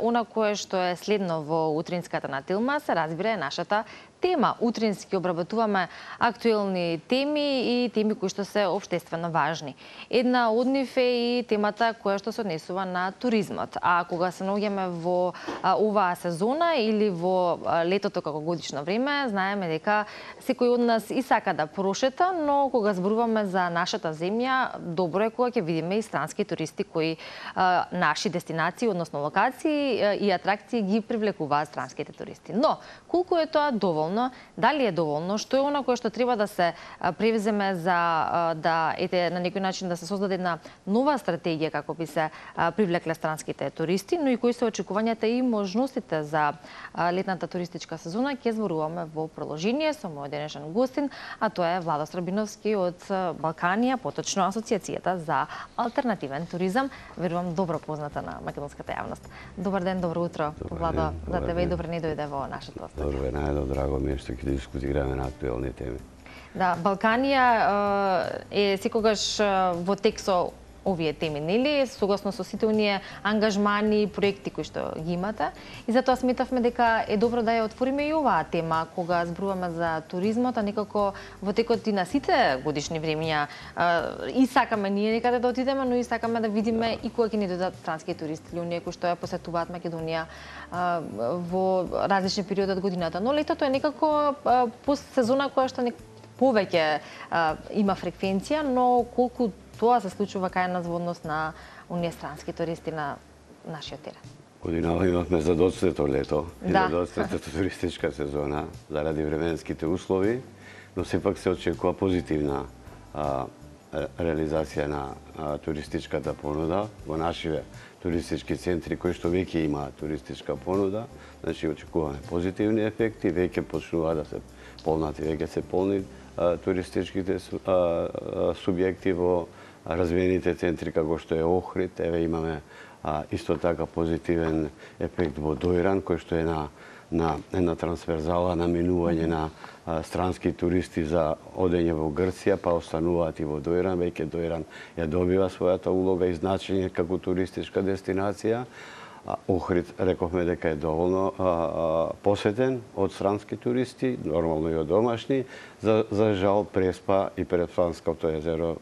она кое што е следно во утринската на Тилма, се разбира е нашата тема. Утрински обработуваме актуелни теми и теми кои што се општествено важни. Една од нив е и темата која што се однесува на туризмот. А кога се наоѓаме во оваа сезона или во летото како годишно време, знаеме дека секој од нас и сака да прошета, но кога зборуваме за нашата земја, добро е кога ќе видиме и странски туристи кои наши дестинации, односно локации и атракции ги привлекуваат странските туристи. Но колку е тоа доволно? Дали е доволно? Што е она кое што треба да се превземе за да на некој начин да се создаде една нова стратегија како би се привлекле странските туристи, но и кои се очекувањата и можностите за летната туристичка сезона, ќе зборуваме во продолжение со мојот денешен гостин, а тоа е Владо Срабиновски од Балканија, поточно Асоциацијата за алтернативен туризам, верувам добро позната на македонската јавност. Добар ден, добро утро, Владо, за тебе и добре ни дојде во нашето студио. Добре, најдо драго ми е што ќе дискутираме на актуелни теми. Да, Балканија е секогаш во тек со овие теми, нели? Согласно со сите оние ангажмани и проекти кои што ги имате. И затоа сметавме дека е добро да ја отвориме и оваа тема кога зборуваме за туризмот, а некако во текот и на сите годишни времиња и сакаме ние некаде да отидеме, но и сакаме да видиме и кога ќе ни дојдат странски туристи или оние кои што ја посетуваат Македонија во различни периоди од годината. Но летото е некако сезона која што повеќе има фреквенција, но колку тоа се случува кај нас во однос на оние странски туристи на нашиот терен. Годинава имавме задоцнето лето и задоцнетата туристичка сезона заради временските услови, но сепак се очекува позитивна реализација на туристичката понуда во нашите туристички центри кои што веќе имаат туристичка понуда. Значи очекуваме позитивни ефекти, веќе почнува да се полнати, веќе се полни туристичките субјекти во развиените центри како што е Охрид. Еве имаме исто така позитивен ефект во Дојран, кој што е на една трансферзала наминување на странски туристи за одење во Грција, па остануваат и во Дојран. Веќе Дојран ја добива својата улога и значење како туристичка дестинација. Охрид рековме дека е доволно посетен од странски туристи, нормално и од домашни. За жал Преспа и Преспанското езеро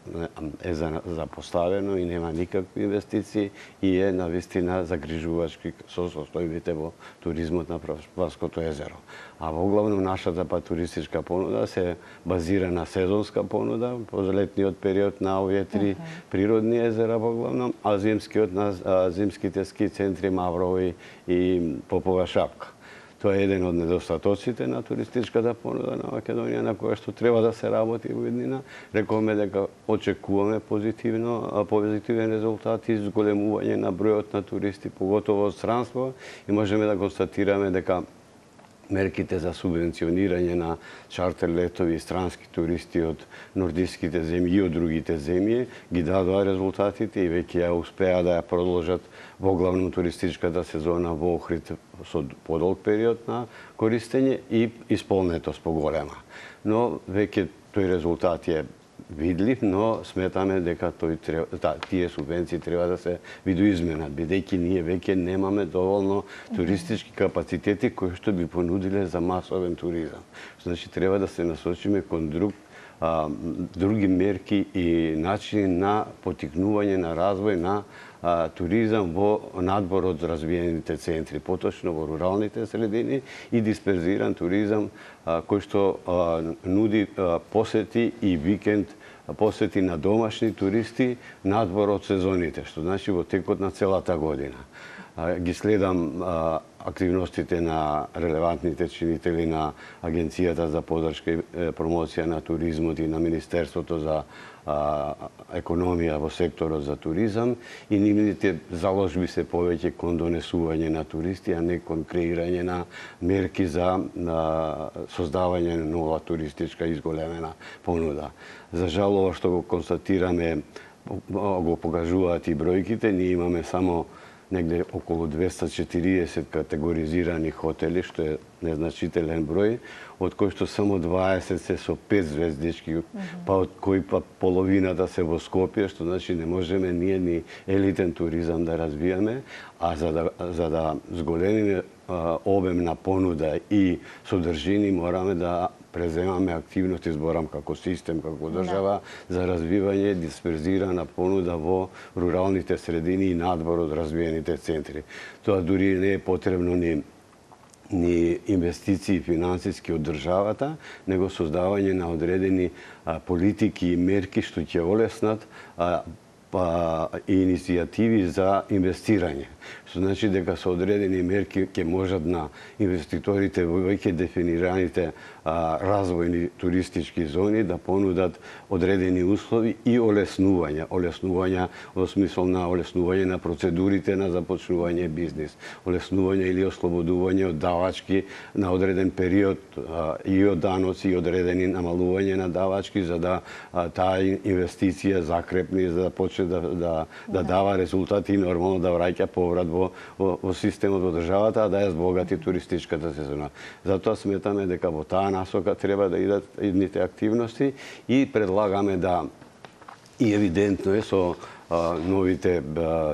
е запоставено и нема никакви инвестиции и е навистина загрижувачки со состојбите во туризмот на Преспанското езеро. А во главно нашата туристичка понуда се базира на сезонска понуда по летниот период на овие три природни езера во главно, а зимските ски центри Маврови и Попова шапка. Тоа е еден од недостатоците на туристичката понуда на Македонија на која што треба да се работи во иднина. Рековме дека очекуваме позитивен резултат и зголемување на бројот на туристи, поготово од странство, и можеме да констатираме дека мерките за субвенционирање на чартер летови и странски туристи од нордиските земји и од другите земји ги дадоа резултатите и веќе ја успеа да ја продолжат во главно туристичката сезона во Охрид со подолг период на користење и исполнетост поголема. Но веќе тој резултат е видлив, но сметаме дека тие субвенции треба да се видоизменат, бидејќи ние веќе немаме доволно туристички капацитети кои што би понудиле за масовен туризам. Значи треба да се насочиме кон други мерки и начини на поттикнување на развој на туризам во надвор од развиените центри, поточно во руралните средини, и дисперзиран туризам кој што нуди посети и викенд посети на домашни туристи надвор од сезоните, што значи во текот на целата година. Ги следам активностите на релевантните чинители на Агенцијата за поддршка и промоција на туризмот и на Министерството за економија во секторот за туризам, и нивните заложби се повеќе кон донесување на туристи, а не кон креирање на мерки за создавање на нова туристичка изголемена понуда. За жал, ова што го констатираме го покажуваат и бројките. Ние имаме само негде околу 240 категоризирани хотели, што е незначителен број, од кои што само 20 се со 5 звездички, па од кои па половината се во Скопје, што значи не можеме ние ни елитен туризам да развијаме, а за да зголемиме обем на понуда и содржини мораме да преземаме активности, зборам како систем, како држава, за развивање дисперзирана понуда во руралните средини и надвор од развиените центри. Тоа дури не е потребно ни инвестиции финансиски од државата, него создавање на одредени политики и мерки што ќе олеснат и иницијативи за инвестирање. Што значи дека со одредени мерки ќе можат на инвеститорите во веќе дефинираните развојни туристички зони да понудат одредени услови и олеснувања во смисол на олеснување на процедурите на започнување бизнис, олеснување или ослободување од давачки на одреден период и од даноци и одредени намалување на давачки за да таа инвестиција закрепни, за да почне да дава резултати и нормално да враќа поврат во системот во државата, а да ја збогати туристичката сезона. Затоа сметаме дека во таа насока треба да идат идните активности и предлагаме да и евидентно е со новите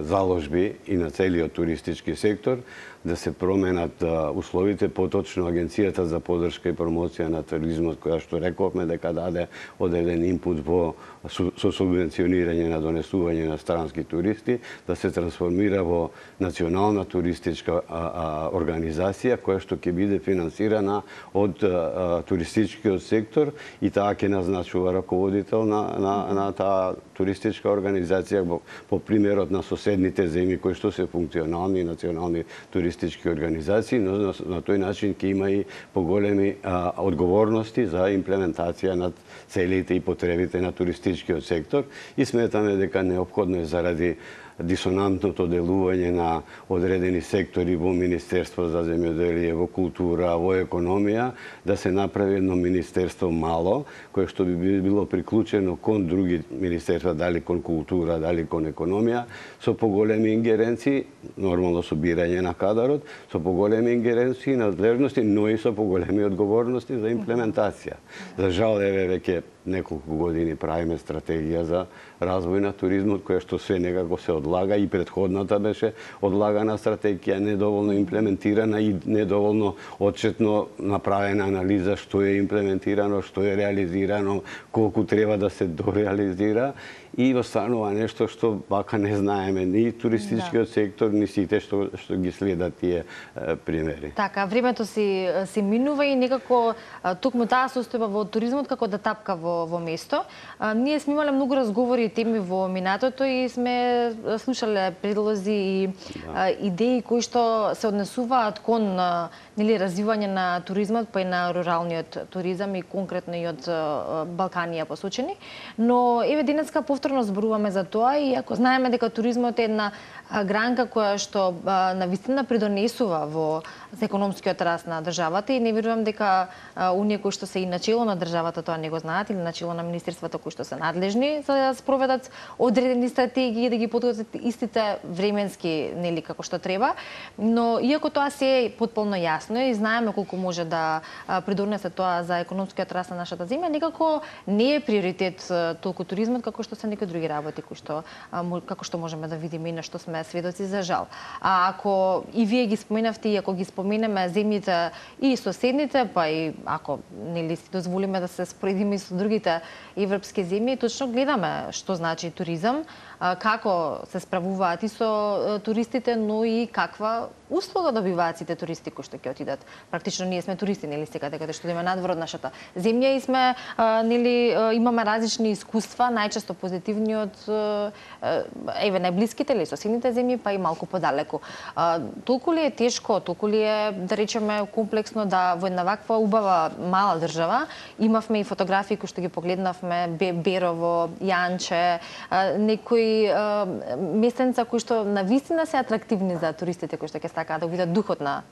заложби и на целиот туристички сектор да се променат условите, поточно Агенцијата за поддршка и промоција на туризмот, која што рековме дека даде одреден инпут со субвенционирање на донесување на странски туристи, да се трансформира во национална туристичка организација која што ќе биде финансирана од туристичкиот сектор и таа ќе назначува раководител на таа туристичка организација по примерот на соседните земји кои што се функционални национални туристички организации, но на тој начин ќе има и поголеми одговорности за имплементација на целите и потребите на туристичкиот сектор и сметаме дека неопходно е заради дисонантното делување на одредени сектори во Министерство за земјоделие, во култура, во економија, да се направи едно министерство мало, кое што би било приклучено кон други министерства, дали кон култура, дали кон економија, со поголеми ингеренции, нормално со бирање на кадарот, со поголеми ингеренции, надлежности, но и со поголеми одговорности за имплементација. За жал, еве веќе неколку години правиме стратегија за развој на туризмот, која што се некако се одлага и предходната беше одлагана стратегија, недоволно имплементирана и недоволно отчетно направена анализа што е имплементирано, што е реализирано, колку треба да се дореализира и останува нешто што вака не знаеме ни туристичкиот сектор, ни сите што ги следат тие примери. Така, времето си минува и некако токму таа состојба во туризмот како да тапка во место. Ние сме имале многу разговори и теми во минатото и сме слушале предлози и идеи кои што се однесуваат кон развивање на туризмот, па и на руралниот туризам и конкретно и од Балканија посочени. Но еве денеска повторно зборуваме за тоа и ако знаеме дека туризмот е една гранка која што навистина придонесува во економскиот раст на државата и не верувам дека оние кои што се и начело на државата тоа не го знаат или начело на министерствата кои што се надлежни за да спроведат одредени стратегии да ги подготват истите временски нели како што треба, но иако тоа се е потполно јасно и знаеме колку може да придонесе тоа за економскиот раст на нашата земја, некако не е приоритет толку туризмот како што се некои други работи кои што како што можеме да видиме и на што сме сведоци за жал. А ако и вие ги споменавте и ако ги споменеме земјите и соседните, па и ако нели си дозволиме да се споредиме и со другите европски земји, точно гледаме што значи туризам, како се справуваат и со туристите, но и каква услуга добиваат сите туристи кои што ќе отидат. Практично ние сме туристи, нели секаде каде што идеме надвор од нашата земја и сме нели имаме различни искуства, најчесто позитивни од еве најблиските или соседните земји, па и малку подалеку. Толку ли е тешко, толку ли е да речеме комплексно да во една ваква убава мала држава имавме и фотографии кои што ги погледнавме Берово, Јанче, некои местенца кои што навистина се атрактивни за туристите кои што ќе сакаат да видат духот на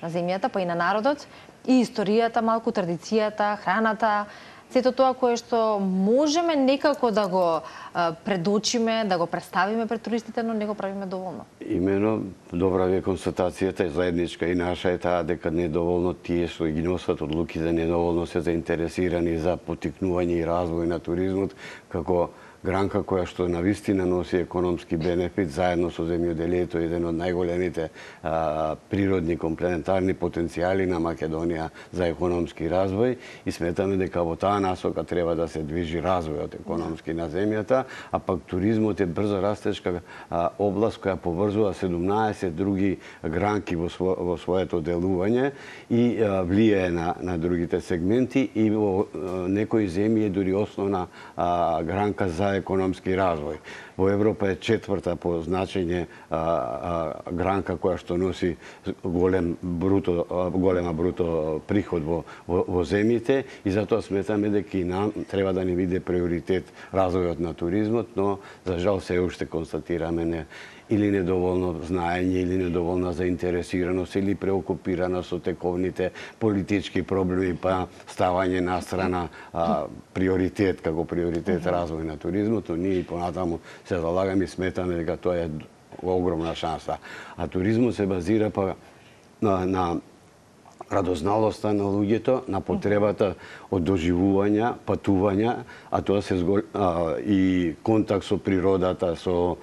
земјата, па и на народот, и историјата, малку традицијата, храната. сето тоа кое што можеме некако да го предочиме, да го представиме пред туристите, но не го правиме доволно. Имено, добра ви констатацијата, заедничка и наша е таа дека недоволно тие што ги носат одлуките, недоволно се заинтересирани за поттикнување и развој на туризмот, како гранка која што навистина носи економски бенефит заедно со земјоделието, еден од најголемите природни комплементарни потенцијали на Македонија за економски развој, и сметаме дека во таа насока треба да се движи развојот економски на земјата, а пак туризмот е брзо растечка област која поврзува 17 други гранки во своето делување и влијае на другите сегменти, и во некои земји е дури основна гранка за економски развој. Во Европа е четврта по значење гранка која што носи голема бруто приход во земјите, и затоа сметаме дека и нам треба да ни биде приоритет развојот на туризмот, но за жал се уште констатираме или недоволно знаење, или недоволна заинтересираност, или преокупираност со тековните политички проблеми, па ставање на страна приоритет, како приоритет развој на туризмот, но ние и понатаму се залагаме и сметаме дека тоа е огромна шанса. А туризмот се базира па на радозналоста на луѓето, на потребата од доживувања, патувања, а тоа се и контакт со природата, со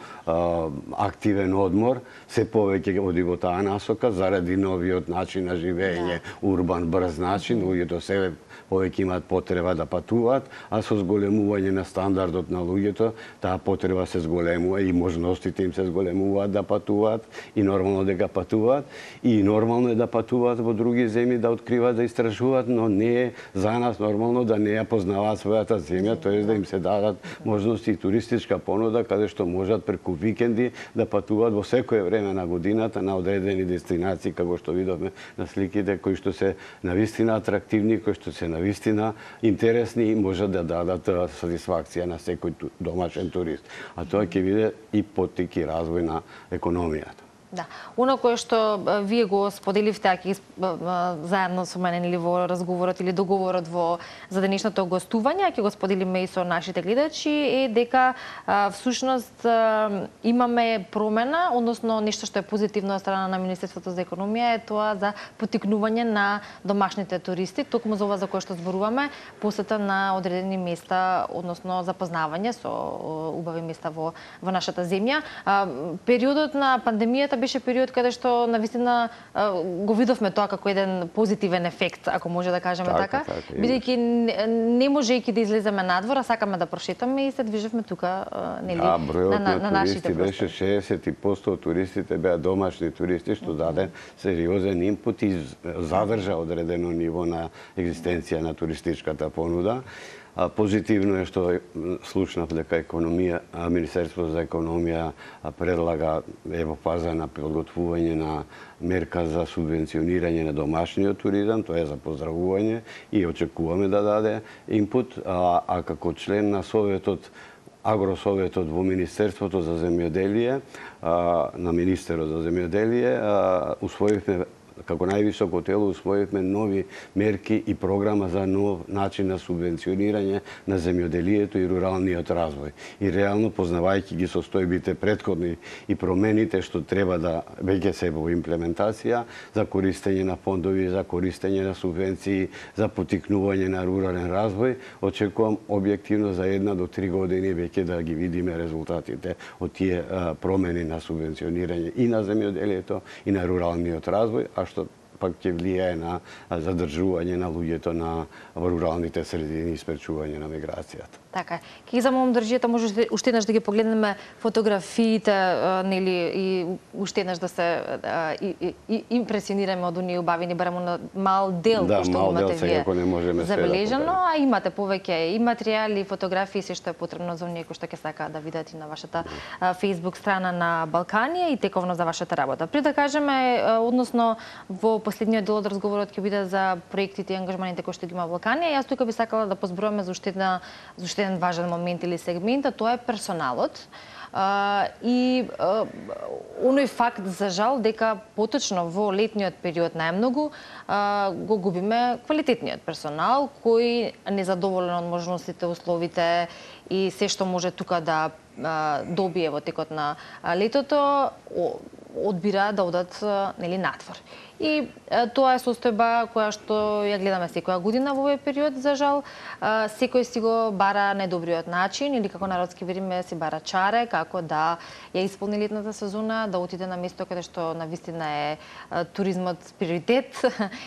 активен одмор, се повеќе оди во таа насока заради новиот начин на живење, урбан, брз начин, луѓето се повеќе имаат потреба да патуваат, а со зголемување на стандардот на луѓето, таа потреба се зголемува и можностите им се зголемуваат да патуваат, и нормално дека патуваат, и нормално е да патуваат во други земји, да откриваат, да истражуваат, но не е за нас нормално да не ја познаваат својата земја, тоа е да им се дадат можности и туристичка понуда каде што можат преку викенди да патуваат во секое време на годината на одредени дестинации, како што видовме на сликите, кои што се навистина атрактивни, кои што се навистина интересни и можат да дадат сатисфакција на секој домашен турист. А тоа ќе биде и поттик и развој на економијата. Да. Оно кое што вие го споделивте, аки заедно со мене или во разговорот или договорот за денешното гостување, ќе го споделиме и со нашите гледачи, е дека всушност имаме промена, односно нешто што е позитивно од страна на Министерството за економија е тоа за поттикнување на домашните туристи, токму за ова за кое што зборуваме, посета на одредени места, односно запознавање со убави места во нашата земја. Периодот на пандемијата беше период каде што навистина го видовме тоа како еден позитивен ефект, ако може да кажеме така, бидејќи не можејќи да излеземе надвор, а сакаме да прошетаме и се движевме тука нели на нашите простори. Беше 60% од туристите беа домашни туристи, што даде сериозен импут и задржа одредено ниво на екзистенција на туристичката понуда. Позитивно е што слушнав дека Министерството за економија предлага во фаза на подготвување на мерка за субвенционирање на домашниот туризам, тоа е за поздравување и очекуваме да даде импут, а како член на Советот, Агросоветот во Министерството за земјоделие, на Министерот за земјоделие, усвоивме како највисоко тело усвоивме нови мерки и програма за нов начин на субвенционирање на земјоделието и руралниот развој. И реално, познавајќи ги состојбите претходни и промените што треба да веќе се во имплементација за користење на фондови, за користење на субвенции, за поттикнување на рурален развој, очекувам објективно за 1 до 3 години веќе да ги видиме резултатите од тие промени на субвенционирање и на земјоделието и на руралниот развој, а што пак ќе влијае на задржување на луѓето во руралните средини и спречување на миграцијата. Така е. Ќе замолам држијата може уште еднаш да ги погледнеме фотографиите, нели, и уште еднаш да се импресионираме од оние убавини, барем на мал дел што имате вие забележано, а имате повеќе и материјали, и фотографии, се што е потребно за оние кои што ќе сакаат да видат и на вашата Facebook страна на Балканија и тековно за вашата работа. Пред да кажеме, односно во последниот дел од разговорот ќе биде за проектите и ангажманите кои што ги има Балканија, јас тука би сакала да позброиме за уште еден еден важен момент или сегмент, а тоа е персоналот. И оној факт, за жал, дека поточно во летниот период најмногу го губиме квалитетниот персонал, кој незадоволен од можностите, условите и се што може тука да добие во текот на летото, одбира да одат надвор. И тоа е состојба која што ја гледаме секоја година во овој период, за жал. Секој си го бара најдобриот начин, или како народски вериме си бара чаре, како да ја исполни летната сезона, да отиде на место каде што навистина е туризмот приоритет,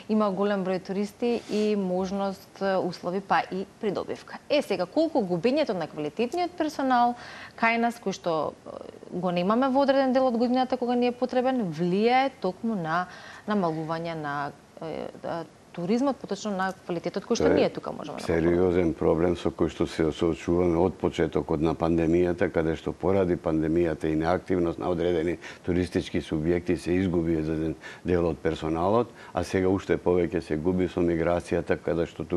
има голем број туристи и можност, услови, па и придобивка. Сега, колку губењето на квалитетниот персонал кај нас, кој што го немаме во одреден дел од годината кога ни е потребен, влијае токму на намалување на туризмот, поточно на квалитетот кој што ние тука можеме да сериозен проблем со кој што се соочуваме од почетокот на пандемијата, каде што поради пандемијата и неактивност на одредени туристички субјекти се изгуби еден дел од персоналот, а сега уште повеќе се губи со миграцијата, каде што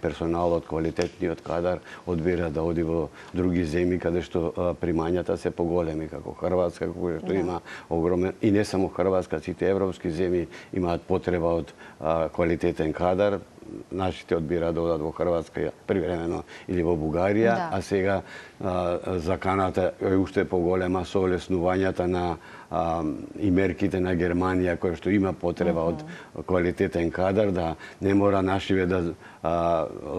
персоналот, квалитетниот кадар одбира да оди во други земји каде што примањата се поголеми, како Хрватска, која што има огромен, и не само Хрватска, сите европски земји имаат потреба од квалитетен кадар. Нашите одбира да одат во Хрватска привремено или во Бугарија, а сега заканата е уште поголема со олеснувањата на и мерките на Германија, која што има потреба од квалитетен кадар, да не мора нашиве да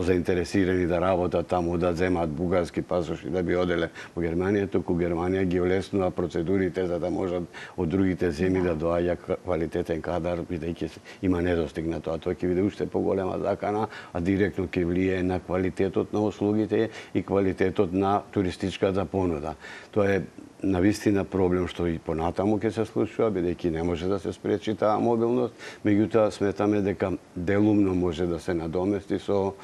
заинтересирани да работат таму, да земат бугарски пасоши да би оделе во Германија, туку Германија ги олеснува процедурите за да можат од другите земји да доаѓа квалитетен кадар, бидејќи има недостиг на тоа. Тоа ќе биде уште поголема закана, а директно ќе влијае на квалитетот на услугите и квалитетот на туристичката понуда. Тоа е навистина проблем што и понатаму ќе се случува, бидејќи не може да се спречи таа мобилност, меѓутоа сметаме дека делумно може да се надомести со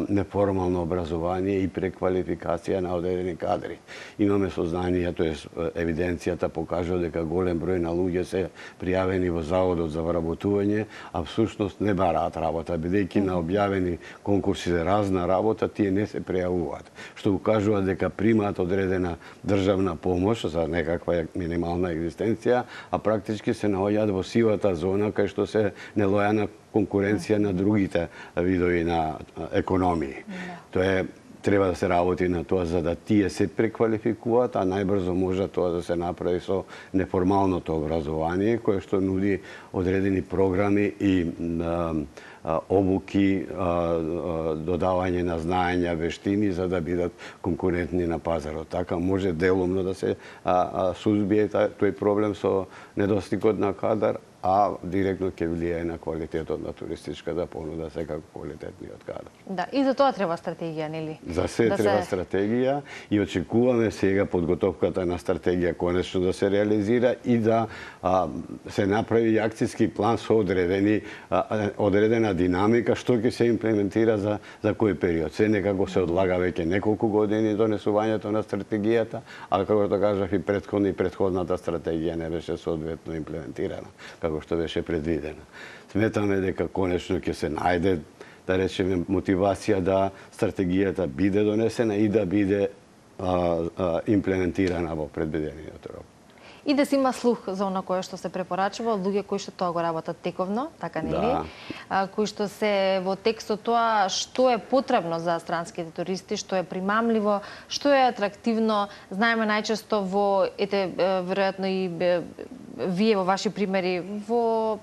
неформално образование и преквалификација на одредени кадри. Имаме сознание, тоест евиденцијата покажува дека голем број на луѓе се пријавени во Заводот за вработување, а всушност не бараат работа, бидејќи на објавени конкурси за разна работа тие не се пријавуваат, што укажува дека примаат одредена државна помош за некаква минимална екзистенција, а практички се наоѓаат во сивата зона кај што се нелојана конкуренција на другите видови на економии. Тоа е, треба да се работи на тоа за да тие се преквалификуваат, а најбрзо може тоа да се направи со неформалното образование, кое што нуди одредени програми и обуки, додавање на знаења, вештини за да бидат конкурентни на пазарот. Така може делумно да се сузбие тој проблем со недостигот на кадар, а директно ќе влијае на квалитетот на туристичката понуда, секако квалитетниот кадар. Да, и за тоа треба стратегија, нели? За се треба стратегија и очекуваме сега подготовката на стратегија конечно да се реализира и да се направи акцијски план со одредена динамика што ќе се имплементира за кој период. Се некако се одлага веќе неколку години донесувањето на стратегијата, а како што кажав и претходната стратегија не беше соодветно имплементирана како што беше предвидено. Сметаме дека конечно ќе се најде, да речеме, мотивација да стратегијата биде донесена и да биде имплементирана во предвидениот рок. И да се има слух за она кое што се препорачува од луѓе кои што тоа го работат тековно, така нели? Кои што се во текстот тоа што е потребно за странските туристи, што е примамливо, што е атрактивно. Знаеме најчесто веројатно и вие во ваши примери, во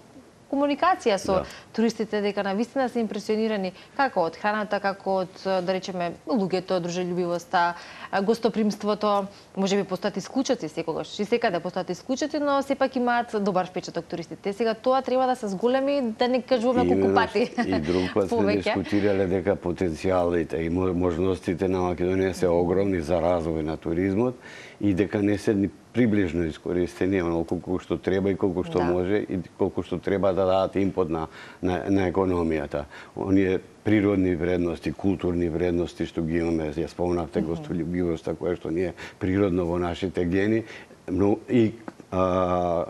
комуникација со туристите, дека навистина се импресионирани како од храната, како од, да речеме, луѓето, дружелюбивоста, гостопримството. Може би постојат исклучоци секогаш, и секаде постојат исклучоци, но сепак имаат добар впечаток туристите. Сега тоа треба да се зголеми, да не кажуваме колку пати. И друг пат сме дискутирале дека потенцијалите и можностите на Македонија се огромни за развој на туризмот и дека не се ни приближно искористени онолку колку што треба и колку што може и колку што треба да дадат импот на економијата. Оние природни вредности, културни вредности што ги имаме, ја спомнавте гостолюбивоста која што ни е природно во нашите гени, но и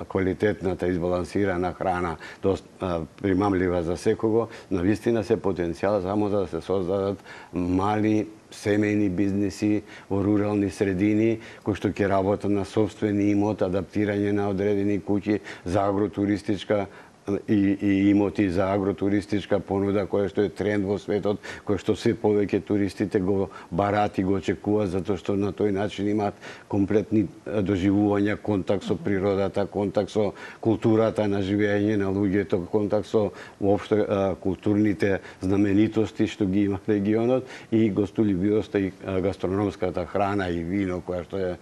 квалитетната избалансирана храна, примамлива за секого, навистина се потенцијал само за да се создадат мали семејни бизниси во рурални средини кои што ќе работат на сопствени имот, адаптирање на одредени куќи за агротуристичка и имоти за агротуристичка понуда која што е тренд во светот, која што се повеќе туристите го бараат и го очекуваат затоа што на тој начин имаат комплетни доживувања, контакт со природата, контакт со културата на живење на луѓето, контакт со воопшто културните знаменитости што ги има регионот и гостолюбивоста и гастрономската храна и вино која што е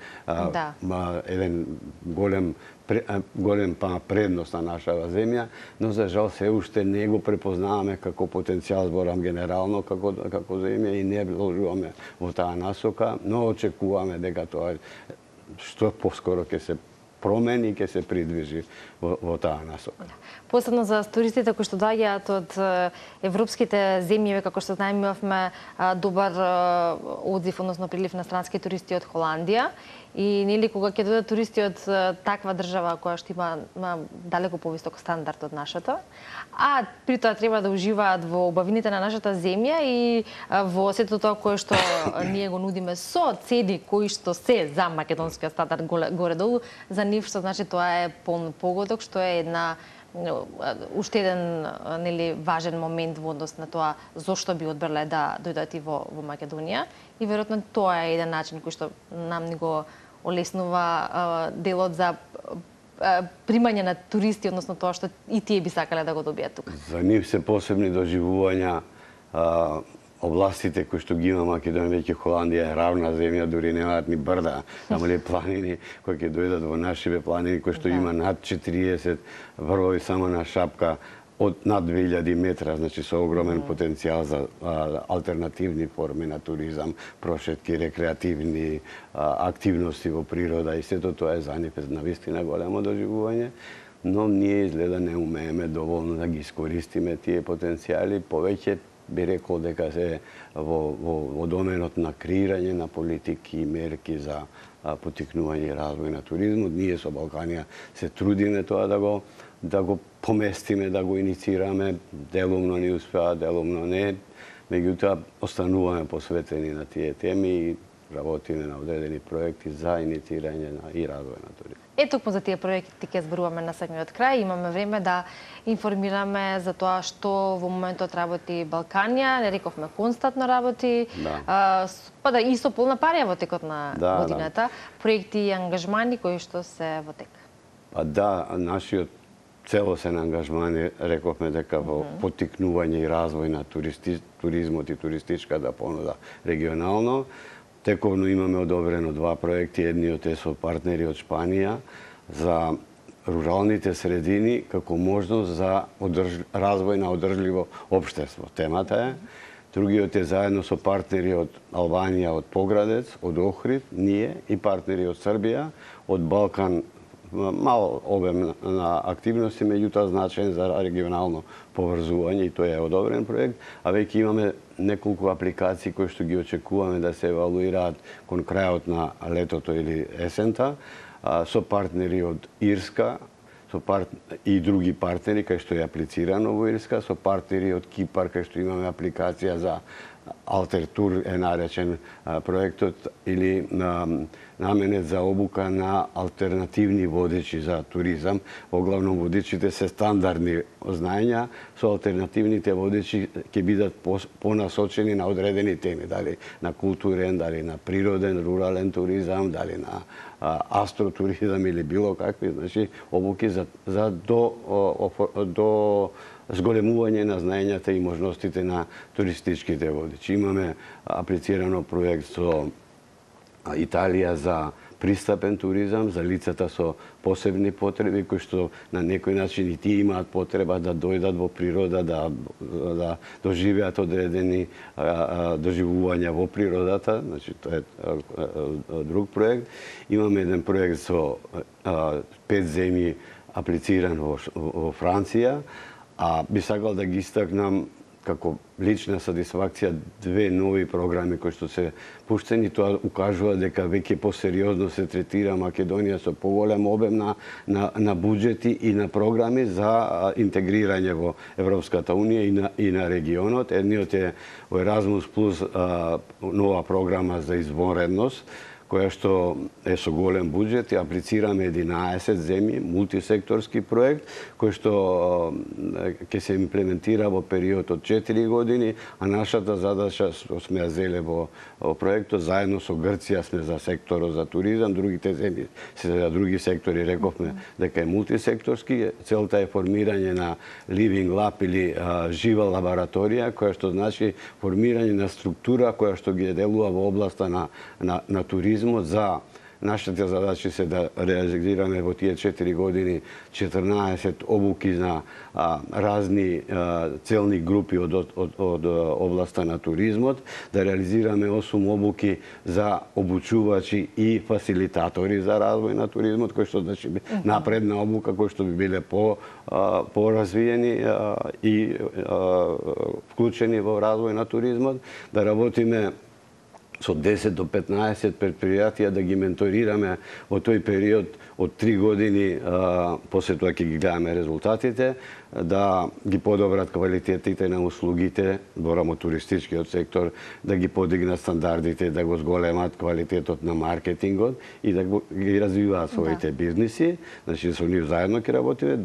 еден голем предност на нашава земја, но за жал се уште не го препознаваме како потенцијал, зборам генерално, како земја и не вложуваме во таа насока, но очекуваме дека тоа што поскоро ќе се промени и ќе се придвижи во таа насока. Посебно за туристите кои што доаѓаат од европските земји, како што знаеме, имавме добар одзив, односно прилив на странски туристи од Холандија. И нели кога ќе дојдат туристи од таква држава која што има далеку повисок стандард од нашата, а при тоа треба да уживаат во убавините на нашата земја и во сето тоа кое што ние го нудиме со цени кои што се за македонскиот стандард горе-долу, за нив што значи тоа е полн погодок, што е една уште еден нели важен момент во однос на тоа зошто би одбрале да дојдат и во Македонија и веројатно тоа е еден начин кој што нам ни го олеснува делот за примање на туристи, односно тоа што и тие би сакале да го добијат тука. За нив се посебни доживувања областите кои што ги има Македонија, веќе Холандија е равна земја, дури немаат ни брда, само ли планини, кои ќе дојдат во нашиве планини кои што има над 40 врвови само на шапка од над 2000 метра, значи со огромен потенцијал за алтернативни форми на туризам, прошетки, рекреативни активности во природа и сето тоа е за нив навистина големо доживување, но ние изгледа не умееме доволно да ги искористиме тие потенцијали, повеќе би рекол дека се во доменот на креирање на политики и мерки за поттикнување и развој на туризмот. Ние со Балканија се трудиме тоа да го поместиме, да го иницираме, делумно ни успеа, делумно не. Меѓутоа, остануваме посветени на тие теми и работиме на одредени проекти за иницирање и развој на туризмот. Токму за тие проекти ќе зборуваме на самиот крај. Имаме време да информираме за тоа што во моментот работи Балканија. Не рековме константно работи, и со полна парија во текот на годината. Проекти и ангажмани кои што се во тек. Нашиот целосен ангажман рековме дека во поттикнување и развој на туризмот и туристичката понуда регионално. Тековно имаме одобрено 2 проекти, едниот е со партнери од Шпанија за руралните средини како можност за развој на одржливо општество. Темата е. Другиот е заедно со партнери од Албанија, од Поградец, од Охрид, ние и партнери од Србија, од Балкан, мал обем на активности, меѓутоа значаен за регионално поврзување и тој е одобрен проект, а веќе имаме неколку апликации кои што ги очекуваме да се евалуираат кон крајот на летото или есента, со партнери од Ирска, и други партнери кај што е аплицирано во Ирска, со партнери од Кипар кај што имаме апликација за Алтертур е наречен проектот или наменет за обука на алтернативни водечи за туризам. Оглавно водечите се стандардни знаења, со алтернативните водечи ќе бидат понасочени на одредени теми, дали на културен, дали на природен, рурален туризам, дали на астротуризам или било какви, значи обуки за до зголемување на знаењата и можностите на туристичките водичи. Имаме аплицирано проект со Италија за пристапен туризам, за лицата со посебни потреби, кои што на некој начин и тие имаат потреба да дојдат во природа, да доживеат одредени доживувања во природата, значи тоа е друг проект. Имаме еден проект со 5 земји аплициран во Франција, а би сакал да ги истакнам како лична сатисфакција две нови програми кои што се пуштени, тоа укажува дека веќе посериозно се третира Македонија со поголем обем на буџети и на програми за интегрирање во Европската унија и на регионот. Едниот е Erasmus Plus, нова програма за извонредност, која што е со голем буџет, и аплицираме 11 земји, мултисекторски проект, кој што ќе се имплементира во период од 4 години, а нашата задача сме ја зеле во проектот, заедно со Грција сме за секторот за туризам, другите земји се за други сектори, рековме дека е мултисекторски. Целта е формирање на Living Lab или жива лабораторија, која што значи формирање на структура која што ги делува во областа на туризм. За нашите задачи се да реализираме во тие 4 години 14 обуки на разни целни групи од областа на туризмот, да реализираме 8 обуки за обучувачи и фасилитатори за развој на туризмот, кои што значи напредна обука, кои што би биле поразвиени и вклучени во развој на туризмот, да работиме со 10 до 15 предпријатија, да ги менторираме во тој период од 3 години, после тоа ќе ги гледаме резултатите, да ги подобрат квалитетите на услугите, зборам од туристичкиот сектор, да ги подигнат стандардите, да го зголемат квалитетот на маркетингот и да ги развиваат своите бизниси. Значи со нив заедно ќе работиме.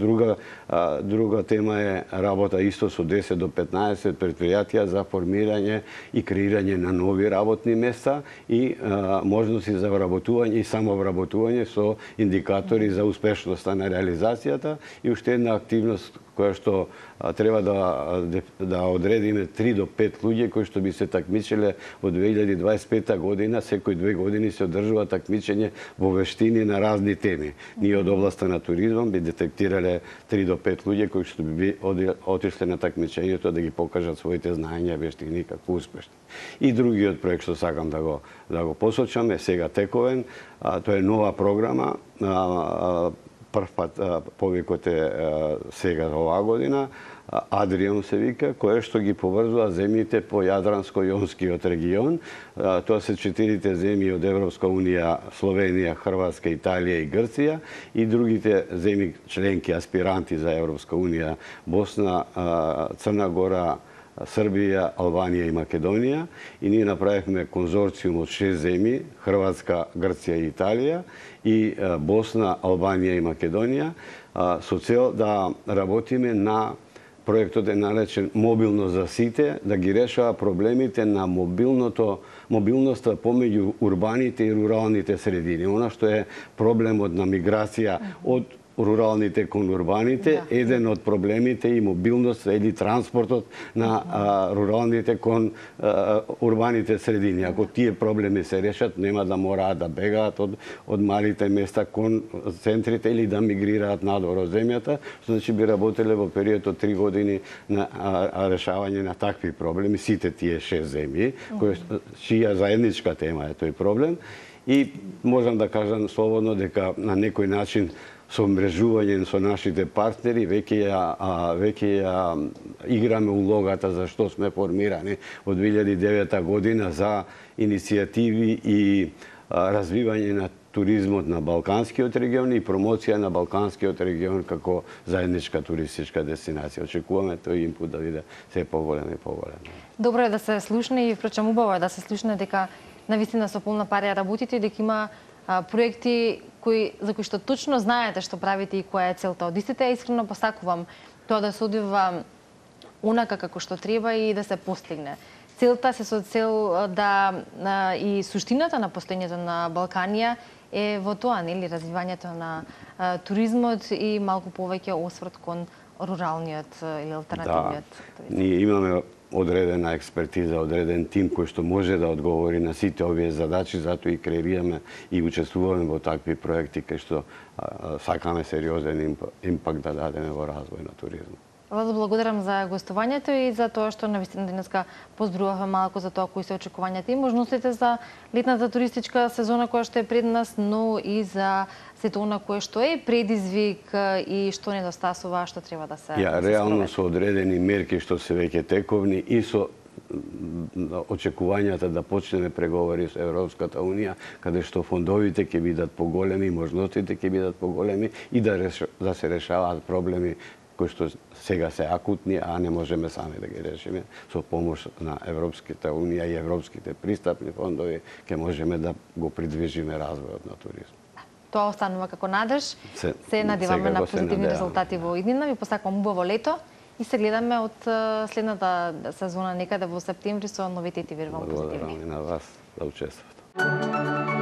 Друга тема е работа исто со 10 до 15 предпријатија за формирање и креирање на нови работни места и можности за вработување и самовработување со индикатори за успешноста на реализацијата. И уште една активност која што треба да одредиме 3 до 5 луѓе кои што би се такмичеле во 2025 година. Секој 2 години се одржува такмичење во вештини на разни теми. Ние од областа на туризмом би детектирале 3 до 5 луѓе кои што би отишле на такмичењето да ги покажат своите знаења, вештини како успешни. И другиот проект што сакам да го посочам е сега тековен. Тоа е нова програма. Прв пат повикот е сега оваа година, Адрион се вика, кое што ги поврзува земјите по Јадранско-Јонскиот регион. Тоа се 4 земји од Европска унија, Словенија, Хрватска, Италија и Грција, и другите земји членки аспиранти за Европска унија, Босна, Црна Гора, Србија, Албанија и Македонија, и ние направивме конзорциум од 6 земји, Хрватска, Грција и Италија, и Босна, Албанија и Македонија, со цел да работиме на проектот е наречен Мобилно за сите, да ги решава проблемите на мобилноста помеѓу урбаните и руралните средини. Она што е проблемот на миграција од руралните кон урбаните, еден од проблемите и мобилност или транспортот на руралните кон урбаните средини. Ако тие проблеми се решат, нема да мораат да бегаат од малите места кон центрите или да мигрираат надвор од земјата, што значи би работеле во период од 3 години на решавање на такви проблеми, сите тие 6 земји, чија заедничка тема е тој проблем. И можам да кажам слободно дека на некој начин со мрежување со нашите партнери веќе ја играме улогата за што сме формирани од 2009 година за иницијативи и развивање на туризмот на Балканскиот регион и промоција на Балканскиот регион како заедничка туристичка дестинација. Очекуваме тој импут да биде се поголем и поголем. Добро е да се слушне и впрочем убаво е да се слушне дека навистина со полна парија работите, дека има проекти за кои што точно знаете што правите и која е целта од истите. Искрено посакувам тоа да се одвива онака како што треба и да се постигне. Целта се со цел да и суштината на постоењето на Балканија е во тоа, нели, развивањето на туризмот и малку повеќе осврт кон руралниот или алтернативниот туризм. Ние имаме одредена експертиза, одреден тим кој што може да одговори на сите овие задачи, затоа и креираме и учествуваме во такви проекти кај што сакаме сериозен импакт да дадеме во развој на туризмот. Владо, благодарам за гостувањето и за тоа што навистина денеска позборувавме малку за тоа кои се очекувањата и можностите за летната туристичка сезона која што е пред нас, но и за сето она кое што е предизвик и што недостасува, што треба да се реално со одредени мерки што се веќе тековни и со очекувањата да почнеме преговори со Европската Унија, каде што фондовите ќе бидат поголеми, можностите ќе бидат поголеми и да се решаваат проблеми кои што сега се акутни, а не можеме сами да ги решиме. Со помош на Европската Унија и европските пристапни фондови ќе можеме да го придвижиме развојот на туризмот. Тоа останува како надеж. Се надеваме на позитивни резултати во иднина. Ви посакувам убаво лето и се гледаме од следната сезона некаде во септември со новитети, верувам, позитивни. Благодарам и на вас да учествувате.